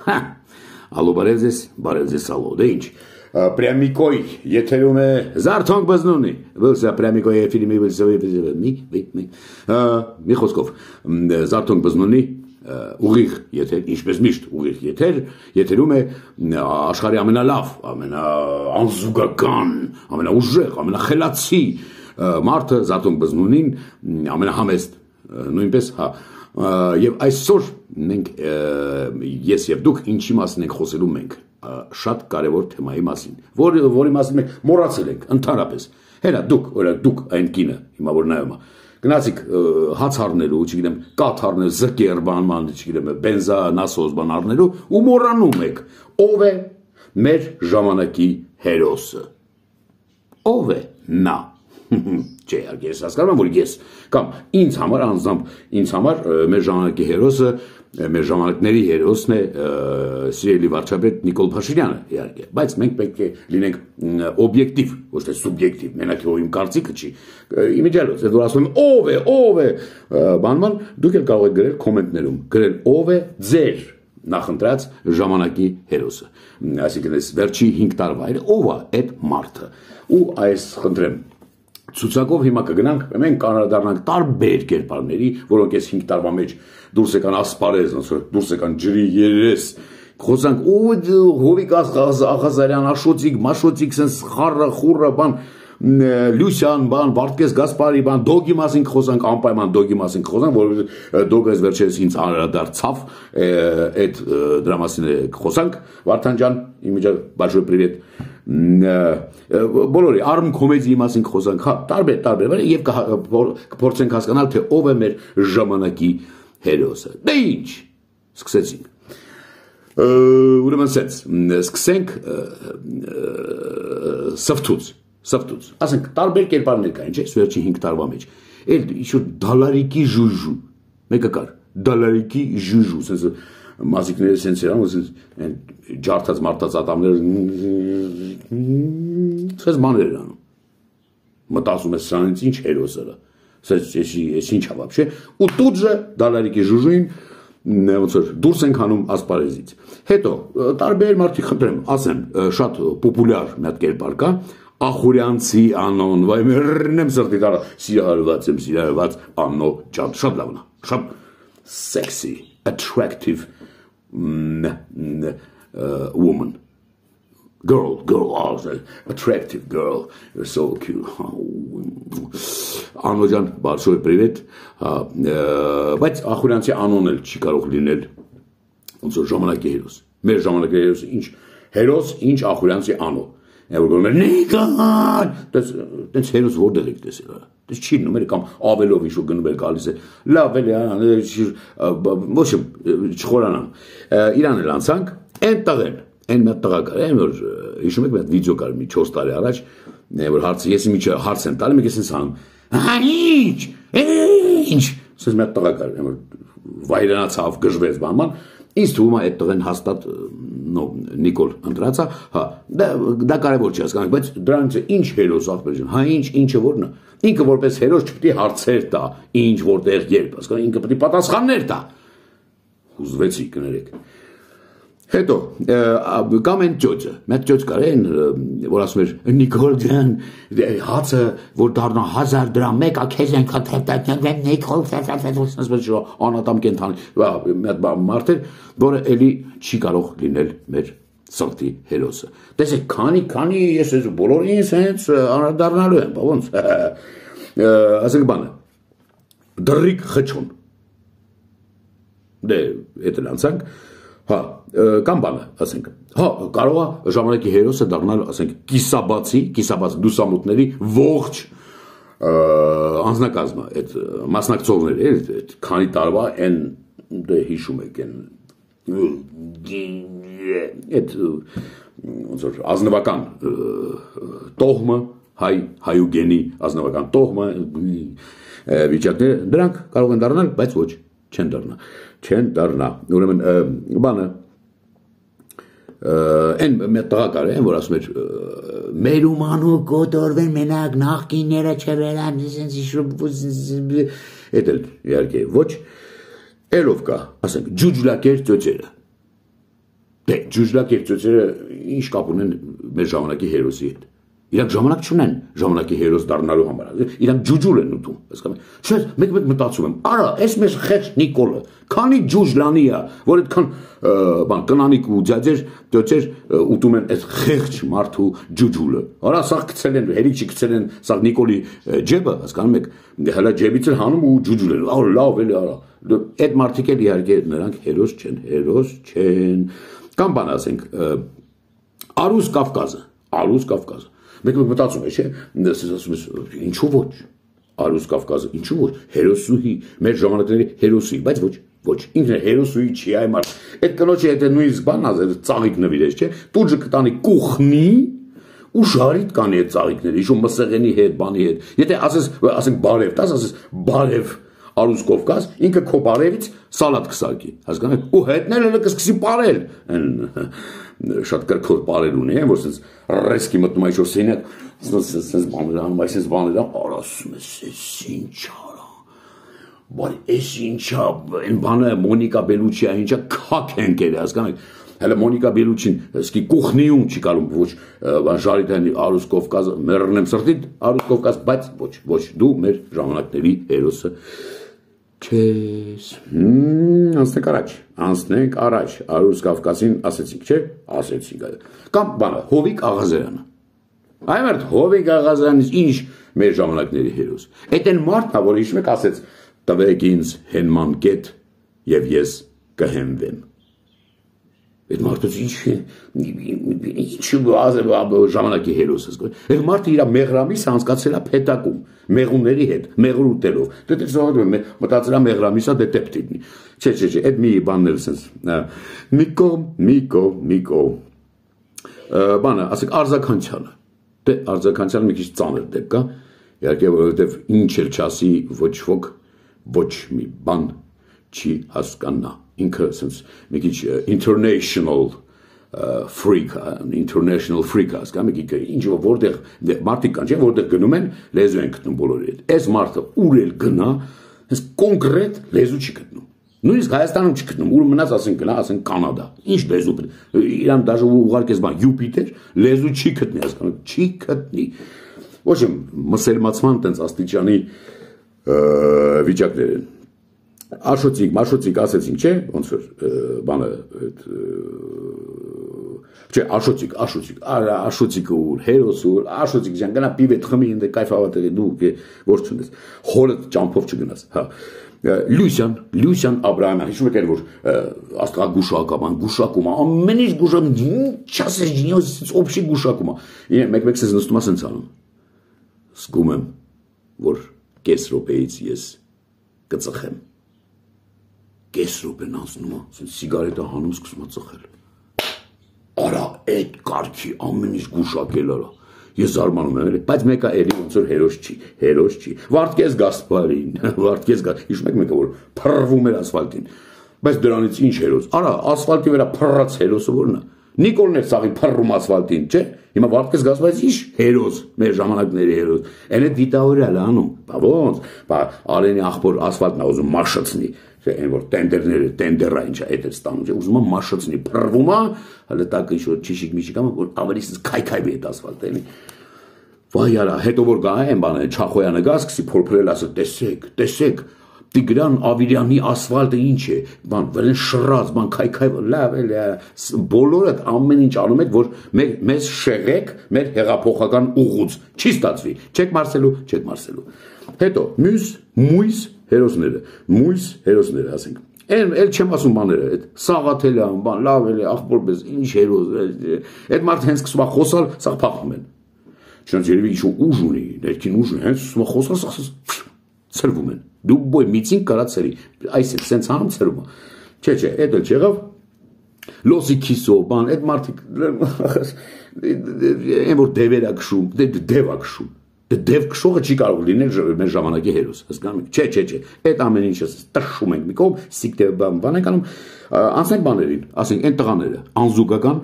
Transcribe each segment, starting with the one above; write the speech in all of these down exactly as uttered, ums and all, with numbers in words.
Հա, ալո բարև ձեզ, բարև ձեզ ալո, դե ինչ, Պրյամիկոյ եթերում է Զարթոնք բզնունի, վլսա Պրյամիկոյ է ֆիլմի վլսա մի, մի, մի խոսքով, Զարթոնք բզնունի ուղիղ եթեր, ինչպես միշտ ուղիղ եթեր, եթերում է աշխարհի ամենալավ, ամենաանզուգական, ամենաուժեղ, ամենախելացի մարդը Զարթոնք բզնունին, ամենահամեստ, նույնպես, հա, եւ այսօր մենք ես եւ դուք ինչի մասին ենք խոսելու մենք շատ կարևոր թեմայի մասին, որի որի մասին մենք մոռացել ենք ընդհանրապես։ Հենա դուք, օրինակ դուք այն կինը, հիմա որ նայում եմ, գնացիք հաց առնելու, չգիտեմ, կաթ առնելու, զկեր բանման, չգիտեմ, բենզա, նասոս բան առնելու ու մոռանում եք, ով է մեր ժամանակի հերոսը։ Ով է նա։ Չէ, ես հասկանում եմ, որ ես կամ ինձ համար անձամբ ինձ համար մեր ժամանակի հերոսը, մեր ժամանակների հերոսն է սիրելի վարչապետ Նիկոլ Փաշինյանը, իհարկե, բայց մենք պետք է լինենք օբյեկտիվ, ոչ թե սուբյեկտիվ, մենակ իմ կարծիքը չի։ Իմիջիալոց, որ ասում եմ ով է, ով է, բանման, դուք էլ կարող եք գրել կոմենտներում, գրել ով է ձեր նախընտրած ժամանակի հերոսը։ Այսինքն այս վերջի հինգ տարվա ով է այդ մարդը։ Ու այս խնդրեմ ցուցակով հիմա կգնանք, մենք կանրադառնանք տարբեր կերպարների, որոնք այս հինգ տարվա մեջ դուրս եկան ասպարեզ, դուրս եկան ջրի երես, խոսանք Հովիկ Աղազարյան, Աշոտիկ, Մաշոտիկ, sense խառը, խուրը, բան, Լյուսյան, բան, Վարդգես Գասպարի, բան, Դոգի մասին խոսանք, անպայման Դոգի մասին խոսանք, որովհետեւ Դոգը վերջերս ինձ անդրադարձավ, այդ դրա մասին խոսանք, Վարդան ջան, իմիջիալ большой привет բոլորի արմ կոմեդիի մասին խոսանք, հա, տարբեր, տարբեր, եւ կփորձենք հասկանալ, թե ով է մեր ժամանակի հերոսը։ Դե ինչ, սկսեցինք։ Ուրեմն սենց, սկսենք սվթուց, սվթուց, ասենք, տարբեր կերպարներ կային, չէ, վերջի հինգ տարվա մեջ, էլ ինչ-որ դալարիկի ժուժու, մեկը կար, դալարիկի ժուժու, սենց մազիկները սենց երան, ջարդած մարդած ատամներ, սենց մաներ են անում, մտասում ես սրանից ինչ հերոսը, ես ինչ հավապ չէ, ու տուտ ժը դալարիկի ժուժույն դուրս ենք հանում ասպարեզից։ Հետո, տարբեր մարդիկ խնդրեմ, ասեմ, շատ պոպուլյար մի հատ կերպար կա, Ախուրյանցի անոն, վայ մերնեմ սրտի տարա, սիրահարված եմ, սիրահարված անո ջան, շատ լավն է, շատ sexy, attractive uh, woman. Girl, girl, oh, attractive girl, you're so cute. Անո ջան, большой привет. Բայց Ախուրյանցի անոն էլ չի կարող լինել ոնց որ ժամանակի հերոս։ Մեր ժամանակի հերոսը ինչ հերոս, ինչ Ախուրյանցի անո։ Եվ որ նիկան, դες հերոս որտեղ եք տեսել։ Դες չի նոմեր կամ ավելով ինչ որ գնում էր գալիս է։ Լավ էլի, ոչ չխորանամ։ Իրան էլ անցանք, այնտեղ են, այն մի տղա կար, այն որ հիշում եք մի հատ վիդեո կար մի չորս տարի առաջ, որ հարցը ես մի հարց եմ տալի, մեկ էս անում։ Հա ինչ, ինչ, ասես մի հատ տղա կար, այն որ վայրանացավ, գժվեց բանման։ Ինձ թվում է այդ տղեն հաստատ Նիկոլ ընտրածա, հա, դա կարևոր չի հասկանանք, բայց դրանից ինչ հերոս ախպեր ջան, հա ինչ, ինչը որն է, ինքը որպես հերոս չպետք է հարցեր տա, ինչ որտեղ երբ, հասկանա, ինքը պետք է պատասխաններ տա։ Հուզվեցի կներեք։ Հետո կամ այն ճոճը, մեկ ճոճ կար այն, որ ասում էր Նիկոլ ջան, հացը որ դառնա հազար դրամ, մեկը քեզ ենք հաթեթ, Նիկոլ, ասես անատամ կենթանի, մի հատ մարդ էր, որը էլի չի կարող լինել մեր սրտի հերոսը։ Տեսեք, քանի, քանի ես ես բոլորին սենց անդրադառնալու եմ, ոնց։ Ասենք բանը, դռիկ խճուն։ Դե, էդ էլ անցանք։ Հա, կամ բանը, ասենք, հա, կարող է ժամանակի հերոսը դառնալ, ասենք, կիսաբացի, կիսաբացի դուսամուտների ողջ անձնակազմը, այդ մասնակցողները, այդ քանի տարվա այն դե հիշում եք այն այդ ոնց որ ազնվական տոհմը, հայ հայուգենի ազնվական տոհմը վիճակները, դրանք կարող են դառնալ, բայց ոչ, չեն դառնա, չեն դառնա, ուրեմն բանը այն մեկ տղա կար, այն որ ասում էր մեր ումանու կոտորվեն մենակ նախկինները չվերան, էդ էլ իհարկե ոչ, էլով կա, ասենք ջուջլակեր ծոճերը, Դե ջուջլակերտությունները ինչ կապ ունեն մեր ժամանակի հերոսի հետ։ Իրանք ժամանակ չունեն ժամանակի հերոս դառնալու համար։ Իրանք ջուջուլ են ուտում, հասկանում եք։ Չէ, մեկ-մեկ մտածում եմ, արա, այս մեր խեղճ Նիկոլը, քանի ջուջլանի է, որ այդքան բան կնանիկ ու ձյաձեր, դոչեր ուտում են այդ խեղճ մարդու ջուջուլը։ Արա, սա գցել են, հերիք չգցել են, սա Նիկոլի ջեբը, հասկանում եք, հələ ջեբից էլ հանում ու ջուջուլ են։ Արա, լավ էլի, արա։ Այդ մարդիկ էլ իհարկե նրանք հերոս չեն, հերոս չեն։ Կամ բան ասենք, Արուս Կավկազը, Արուս Կավկազը։ Մեկ-մեկ մտածում է, չէ՞, ասում ես, ինչու ոչ, Արուս Կավկազը, ինչու ոչ, հերոսուհի, մեր ժամանակների հերոսուհի, բայց ոչ, ոչ, ինքն է հերոսուհի չի, այ մարդ, այդ կնոջի հետ է նույնիսկ բան ազեր, ծաղիկ նվիրես, չէ, տուջը կտանի կուխնի, ու շարիտ կանի այդ ծաղիկները, իշու մսեղենի հետ, բանի հետ, եթե ասես, ասենք բարև, տաս ասես, բարև Արուս Կովկազ, ինքը քո բարևից սալատ կսարքի, հասկանում եք, ու հետնել էլ կսկսի պարել, շատ կրքոր պարել ունի, որ սենց ռեսկի մտնում այշոր սենյակ, սենց բաներ անում, այսենց բաներ անում, արասում ես, ես ինչ արա, բարի, ես ինչա, են բանը Մոնիկա Բելուչիա, ինչա կակ ենք էլ, հասկանում եք, հələ Մոնիկա Բելուչին, սկի կուխնիում չի կարում, ոչ, ժարիտանի Արուս Կովկազը, մերրնեմ սրտիտ, Արուս Կովկազ, բայց ոչ, ոչ, դու մեր ժամանակների հերոսը չես, անցնենք առաջ, անցնենք առաջ, Արուս Կավկասին ասեցինք, չէ, ասեցինք, կամ բանը, Հովիկ Աղազարյանը, այ մերդ, Հովիկ Աղազարյանից ինչ մեր ժամանակների հերոս, էդ են մարդա, որ իշմ եք ասեց, տվեք ինձ հենման կետ և ես կհենվեմ, այդ մարդոց ինչ ժամանակի հերոս ես, այդ մարդը իրա մեղրամիսը անցկացել է փետակում, մեղունների հետ, մեղր ուտելով, մտածել է մեղրամիսը դե տեպ դիտնի, չէ, չէ, չէ, այդ մի բանն էլ սենց, Միկո, Միկո, Միկո, բանը, ասեք արձականցյալը, դե արձականցյալը մի քիչ ծանր դեպք կա, իհարկե որովհետև ինչ էլ չասի ոչ ոք, ոչ մի բան չի հասկանա, ինքը սենց մի քիչ international freak, international freak հասկանում եք, ինչ որտեղ մարդիկ կան, չէ, որտեղ գնում են, լեզու են գտնում բոլորի հետ, այս մարդը ուր էլ գնա, հենց կոնկրետ լեզու չի գտնում, նույնիսկ Հայաստանում չի գտնում, ուր մնաց ասենք գնա, ասենք Կանադա, ինչ լեզու, իրան դաժե ուղարկես բան, Յուպիտեր, լեզու չի գտնի, հասկանում, չի գտնի, ոչ եմ, մսելմացման տենց աստիճանի վիճակներ են, Աշոցիկ, մաշոցիկ ասեցինք, չէ, ոնց որ բանը, չէ, աշոցիկ, աշոցիկ, աշոցիկը ուր, հերոս ուր, աշոցիկ ջան, գնա պիվետ խմի, ինձ կայֆավատեղի, դու որ չունես, հորդ ճամփով չգնաս, հա, Լյուսյան, Լյուսյան Աբրահամյան, հիշում եք որ աստղագուշակական, գուշակում, ամեն ինչ գուշակում, ինչ ասես, ինչ օբշի գուշակում, մեկ-մեկ սեզ նստում ասենց անում, զգում եմ, որ կես րոպեից ես կծխեմ, կես րոպեն անցնում է, սիգարետը հանում սկսում է ծխել, արա, այդ կարգի ամեն ինչ գուշակել արա, ես զարմանում եմ, բայց մեկը էլի ոնց որ հերոս չի, հերոս չի, Վարդգես Գասպարին, Վարդգես Գասպարին, հիշում եք մեկը որ փռվում էր ասֆալտին, բայց դրանից ինչ հերոս, արա, ասֆալտի վրա փռած հերոսը որն է, Նիկոլն էր սաղի փռում ասֆալտին, չէ, հիմա Վարդգես Գասպարին ինչ հերոս, մեր ժամանակների հերոս, այն այդ դիտավորյալ անում, բա ոնց, բա Արենի աղբոր ասֆալտն է ուզում մաշացնի, այն որ տենդերները, տենդերա ինչա այդ էր ստանում, ուզում է մաշացնի, փռվում է, հələ տակը ինչ որ չիշիկ միջիկ ամ, որ ավելի քայքայվի այդ ասֆալտը, էլի։ Վայ արա, հետո որ գա այն բանը, Չախոյանը գա, սկսի փորփրել, ասել, տեսեք, տեսեք, Տիգրան Ավիրյանի ասֆալտը ինչ է, բան, վրեն շռած, բան, քայքայ, լավ էլի, բոլորը ամեն ինչ անում եք, որ մեզ շեղեք մեր հեղափոխական ուղուց, չի ստացվի, չեք մարսելու, չեք մարսելու։ Հետո, մյուս, մույս հերոսները, մույս հերոսները, ասենք, Էլ էլ չեմ ասում բաները, այդ Սաղաթելյան, բան, լավ էլի, աղբորպես, ինչ հերոս, այդ մարդը հենց սկսում է խոսալ, սաղ փախում են։ Չնայած երևի ինչ ուժ ունի, ներքին ուժ ունի, հենց սկսում է խոսալ, սաղ ցրվում են։ Դու բոյ միցին կարա ցրի, այս է սենց անում ցրում է։ Չէ, չէ, այդ էլ չեղավ։ Լոսի քիսո, բան, այդ մարդիկ այն որ դևեր ա քշում, դև ա քշում։ Դև քշողը չի կարող լինել մեր ժամանակի հերոս, հասկանում եք։ Չէ, չէ, չէ, այդ ամեն ինչը տշում ենք մի կողմ, սիկտե բան ենք անում, անցնենք բաներին, ասենք այն տղաները, անզուգական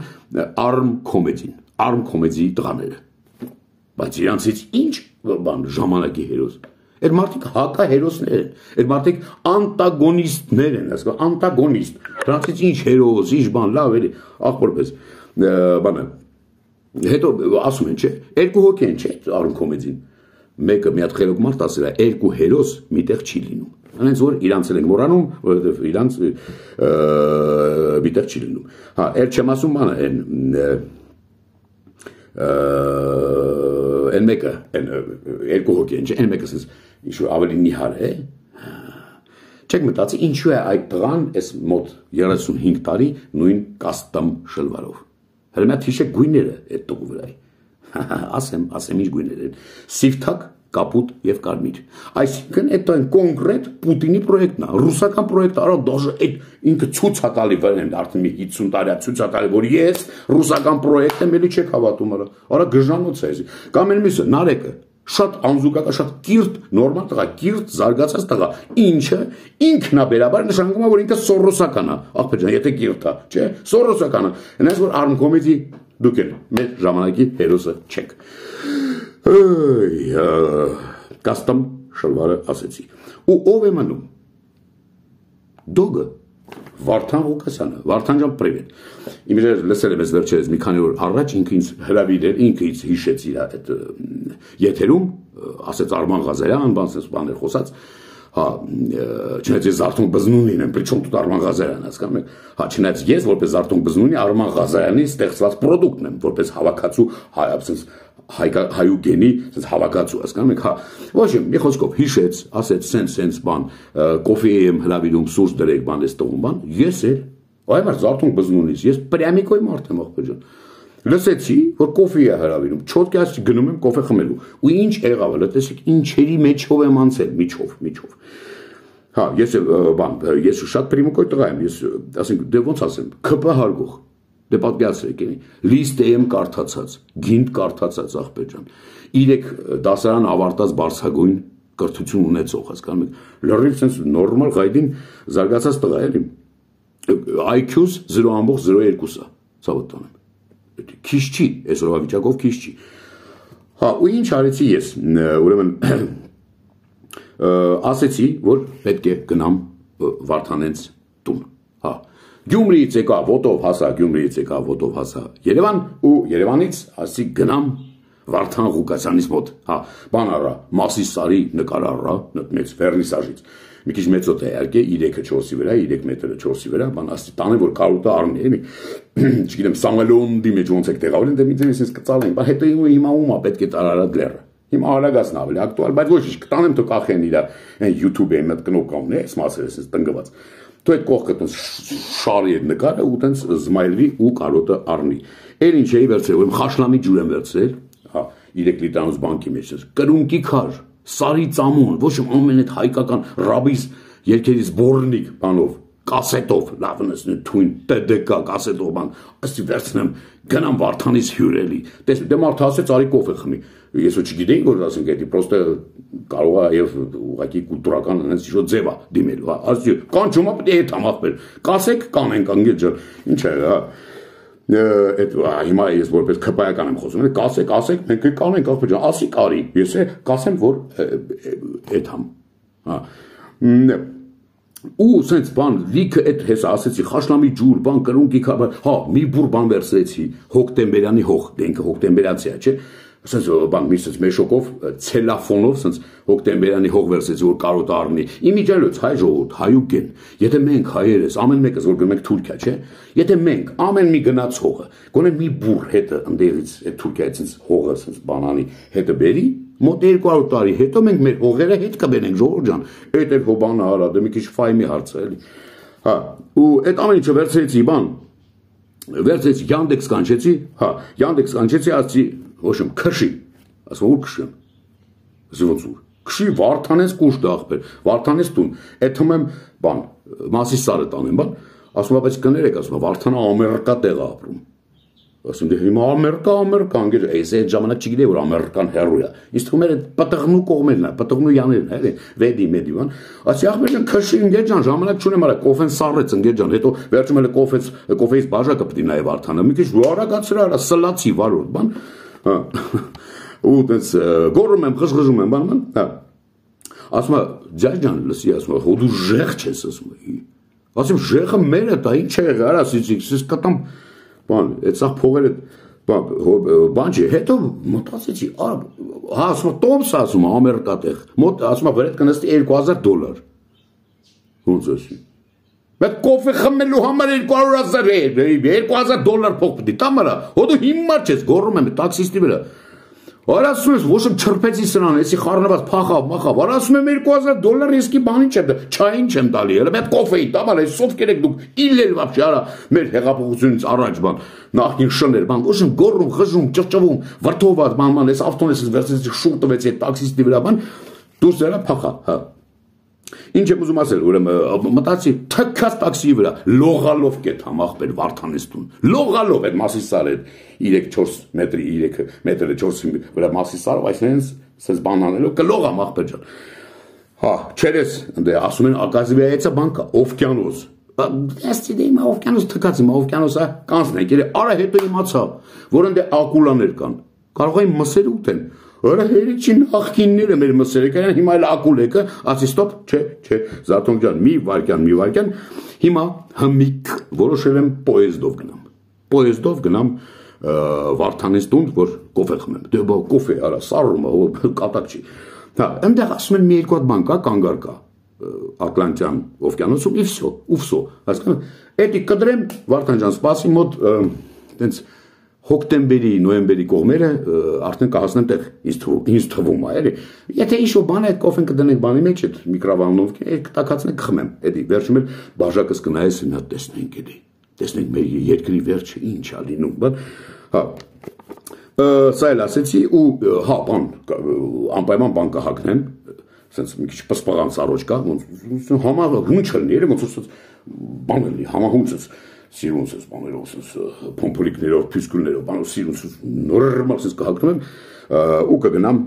արմ կոմեդին, արմ կոմեդիի տղաները։ Բայց իրանցից ինչ բան ժամանակի հերոս։ Այդ մարդիկ հակահերոսներ են, այդ մարդիկ անտագոնիստներ են, ասկա, անտագոնիստ, դրանցից ինչ հերոս, ինչ բան, լավ էլի, ախորպես, բանը, հետո ասում են, չէ, երկու հոգի են, չէ, Արուն կոմեդին, մեկը մի հատ խելոք մարդ ասել է, երկու հերոս միտեղ չի լինում, անենց որ իրանց են մորանում, որովհետև իրանց միտեղ չի լինում, հա, էր չեմ ասում բանը, են, Են մեկը, երկու հոգի են, են մեկը ինչ-որ ավելի նիհար է, չեք մտածի, ինչու է այդ տղան ես մոտ երեսունհինգ տարի նույն կաստամ շլվարով, հրմյա թիշեք գույները այդ տղու վրայի, ասեմ, ասեմ ինչ գույներ են, սիվթակ, կապուտ և կարմիր, այսինքն այդ այն կոնկրետ Պուտինի պրոյեկտն է, ռուսական պրոյեկտը, արա դաժը այդ ինքը ցուցակալի վեր են արդեն մի հիսուն տարի ցուցակալի, որ ես ռուսական պրոյեկտ եմ, էլի չեք հավատում, արա, արա գժանոց է, կամ էլ միսը, Նարեկը, շատ անզուգական, շատ կիրթ, նորմալ տղա, կիրթ, զարգացած տղա, ինչը ինքնաբերաբար նշանակում է, որ ինքը սորոսական է, աղբեր ջան, եթե կիրթ է, չէ, սորոսական է, այնպես որ Արուն կոմեդի դուք էլ մեր ժամանակի հերոսը չեք։ Կաստամ շլվարը ասեցի, ու ով է մնում, դոգը, Վարդան Ղուկասյանը, Վարդան ջան, պրիվետ, իմ էր լսել եմ ես վերջերս մի քանի օր առաջ, ինքը ինձ հրավիրել, ինքը ինձ հիշեց իր այդ եթերում, ասեց Արման Ղազարյան, բաներ խոսած, հա, չնայած ես Զարթուն Բզնունին եմ, պրիչոմ тут Արման Ղազարյան, հասկանում եք, հա, չնայած ես որպես Զարթուն Բզնունի Արման Ղազարյանի ստեղծված պրոդուկտն եմ, որպես հավաքածու հայուգենի հավաքածու, հասկանում եք, հա, ոչ իմ, մի խոսքով հիշեց, ասեց սենց սենց բան, կոֆի եմ հրավիրում սուրճ դրեք բան ես տղում բան, ես էլ, այ Զարթուն Բզնունից, ես պրյամիկոյ մարդ եմ ախպեր ջան, լսեցի, որ կոֆի է հրավիրում, չոտկյաս գնում եմ կոֆե խմելու, ու ինչ եղավ, լսեցիք, ինչերի մեջով եմ անցել, միջով, միջով, հա, ես բան, ես շատ պրիմիկոյ տղա եմ, ես, ասենք, դե ոնց ասեմ, քպ հարգող, դե պատկերացրեք, լիստ եմ կարդացած, գինդ կարդացած աղբեր ջան, իրեք դասարան ավարտած բարձրագույն կրթություն ունեցող, հասկանում եք, լրիվ sense նորմալ գայդին զարգացած տղա էլի, I Q-ս զրո ամբողջ զրո երկու է, ցավոտ տանեմ, քիչ չի, այսօրվա վիճակով քիչ չի, հա, ու ինչ արեցի ես, ուրեմն, ասեցի, որ պետք է գնամ Վարդանենց տուն, հա, Գյումրիից եկա ոտով հասա, Գյումրիից եկա ոտով հասա Երևան ու Երևանից ասի գնամ Վարդան Ղուկասյանից մոտ, հա, բան արա, Մասիսարի նկար արա, մեծ վերնիսաժից, մի քիչ մեծոտ է իհարկե, երեքը չորսի վրա, երեք մետրը չորսի վրա, բան ասի տանը որ կարոտը առնի, էլի, չգիտեմ, Սամվելոնդի մեջ ոնց եք տեղավորին, դե մի ձենից ինձ կծալեն, բա հետո հիմա ում է պետք է տարարած լերը, հիմա արագացն ավելի ակտուալ, բայց ոչ ինչ կտանեմ թող կախեն իրա YouTube-ի մոտ կնոպկամն է, սմասել ես տնկված, դու այդ կողքը տենց շարի այդ նկարը ու տենց զմայլվի ու կարոտը առնի, էլ ինչ էի վերցրել, ուրեմն խաշլամի ջուր եմ վերցրել, հա, երեք լիտրանոց բանկի մեջ, կրունկի քար, սարի ծամոն, ոչ ամեն այդ հայկական ռաբիս երկերից բորնիկ բանով, կասետով, լավնս թույն T D K կասետով բան, ասի վերցնեմ, գնամ Վարդանից հյուրելի, տես, դե մարդը ասեց արի կոֆե խմի, ես ու չգիտեի, որ ասենք էդի, պրոստը կարող է և ուղղակի կուլտուրական անենց ինչ-որ ձև է դիմելու, ասի, կանչում է պետք է հետ համախվել, կասեք կանենք անգետ ջան, ինչ է, հա, հիմա ես որպես քպայական եմ խոսում, կասեք, ասեք, մենք կանենք, աղբեր ջան, ասի կարի, ես է կասեմ, որ էդ համ, հա, ու սենց բան, լիքը էդ հեսա ասեցի, խաշլամի ջուր, բան կրունկի քաբար, հա, մի բուր բան վերցրեցի, հոկտեմբերյանի հող, դենքը հոկտեմբերացի է, չէ, սենց բան մի սենց մեշոկով, ցելաֆոնով, սենց հոկտեմբերյանի հող վերցրեցի, որ կարոտ առնի, իմիջալոց հայ ժողովուրդ, հայուգեն, եթե մենք հայերես, ամեն մեկս որ գնում ենք Թուրքիա, չէ, եթե մենք ամեն մի գնաց հողը, գոնե մի բուր հետը ընդեղից այդ Թուրքիայից սենց հողը սենց բանանի հետը բերի, մոտ երկու հարյուր տարի հետո մենք մեր հողերը հետ կբերենք ժողովուրդ ջան, այդ էլ հոբանը արա, դե մի քիչ ֆայմի հարց է էլի, հա, ու այդ ամեն ինչը վերցրեցի բան, վերցրեցի Yandex կանչեցի, հա, Yandex կանչեցի, ասեցի, ոչ իմ քշի, ասում որ քշեմ, ասի ոնց որ, քշի Վարդանից կուշտ ախպեր, Վարդանից տուն, այդ թվում եմ բան, Մասիսարը տանեմ բան, ասում է, բայց կներեք, ասում է, Վարդանը Ամերիկա տեղ է ապրում, ասում դե հիմա Ամերիկա, Ամերիկա, անգեր, այս այդ ժամանակ չգիտեի, որ ամերիկան հեռու է, ինձ թվում էր պտղնու կողմերն է, պտղնու յաներն է, վեդի մեդի բան, ասի ախպեր ջան, քշի ընկեր ջան, ժամանակ չունեմ արա, կոֆեն սառեց ընկեր ջան, հետո վերջում էլ կոֆեից, կոֆեից բաժակը պետք է նայ Վարդանը, մի քիչ արագացրա արա, սլացի վարորդ բան, ու տենց գոռում եմ, խժխժում եմ, բան, հա, ասում է ձյաձ ջան լսի ասում է հո դու ժեղ չես ասում է ասում ժեղը մերը դա ինչ է եղել արա սից կտամ բան այդ սա փողերը բան չի հետո մտածեցի հա ասում է տոմս ասում է ամերիկատեղ մոտ ասում է վրեդ կնստի երկու հազար դոլար ոնց ասի Մեկ կոֆե խմելու համար երկու հարյուր հազար երկու հազար դոլար փող պետք է տամարա հո դու հիմար չես գոռում եմ տաքսիստի վրա Որ ասում ես ոչ եմ չրփեցի սրան էսի խառնված փախավ մախավ որ ասում եմ երկու հազար դոլար իսկի բանի չեմ չային չեմ տալի հələ մեկ կոֆեի տամարա սով կերեք դուք իլել вообще արա մեր հեղափոխությունից առաջ բան նախին շներ բան ոչ եմ գոռում խժում ճղճվում վրթոված բան բան էս ավտոնես վերցրեցի շուտ տվեցի այդ տաքսիստի վրա բան դուրս ելա փախա հա Ինչ եմ ուզում ասել, ուրեմն մտածի թքած տաքսիի վրա լողալով կետ համախբեր Վարդանեստուն լողալով այդ Մասիսարը երեք չորս մետրի երեք մետրը չորս վրա Մասիսարով այսինքն սենց բանանելով կլող համախբեր ջան Հա չերես դե ասում են ակազիվիայեցա բանկա օվկիանոս Էստի դե իմ օվկիանոս թքած իմ օվկիանոսը կանցնենք երե արա հետո իմացա որ ընդ ակուլաներ կան կարող են մսեր ուտեն Ora herici նախկինները մեր մսերը կան հիմա էլ ակուլեկը ասի ստոպ չէ չէ Զարթոնք ջան մի վարքյան մի վարքյան հիմա հմիկ որոշել եմ պոեզդով գնամ պոեզդով գնամ Վարդանեստուն որ կոֆե խմեմ դե բա կոֆե արա սարում կատակ չի հա այնտեղ ասում են մի երկու հատ բան կա կանգար կա Ատլանտյան օվկիանոսում իվսո ուվսո հասկանում էդի կդրեմ Վարդան ջան սպասի մոտ տենց Հոկտեմբերի, նոյեմբերի կողմերը արդեն կհասնեմ տեղ ինձ թվում է էլի Եթե ինչ-որ բան է կոֆեն կդնենք բանի մեջ այդ միկրովալնով կտակացնենք կխմեմ էդի վերջում էլ բաժակս կնայես մի հատ տեսնենք էլի տեսնենք մեր երկրի վերջը ինչ ա լինում բան հա սա էլ ասեցի ու հա բան անպայման բան կհագնեմ sense մի քիչ պսպղան սարոջ կա ոնց համա հունչ լինի ոնց բան լինի համահունցս Սիրուն ես բաներով, փոմփոլիկներով, փյուսկուլներով, բանով սիրուն նորմալ ես կհագնում եմ ու կգնամ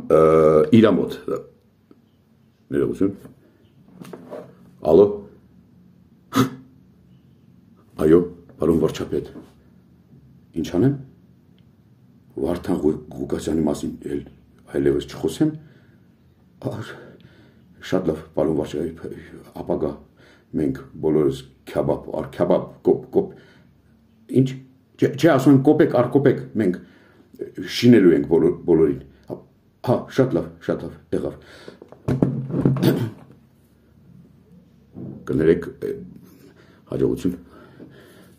իրա մոտ։ Ներողություն։ Ալո։ Այո, պարոն վարչապետ։ Ինչ անեմ։ Վարդան Ղուկասյանի մասին էլ այլևս չխոսեմ։ Շատ լավ, պարոն վարչապետ, ապագա մենք բոլորս քյաբաբ ար քյաբաբ կոպ կոպ ինչ չէ ասում կոպեկ ար կոպեկ մենք շինելու ենք բոլորին հա շատ լավ շատ լավ եղավ կներեք հաջողություն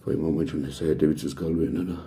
ոյ մոմենտ ունես հետևից գալու են հա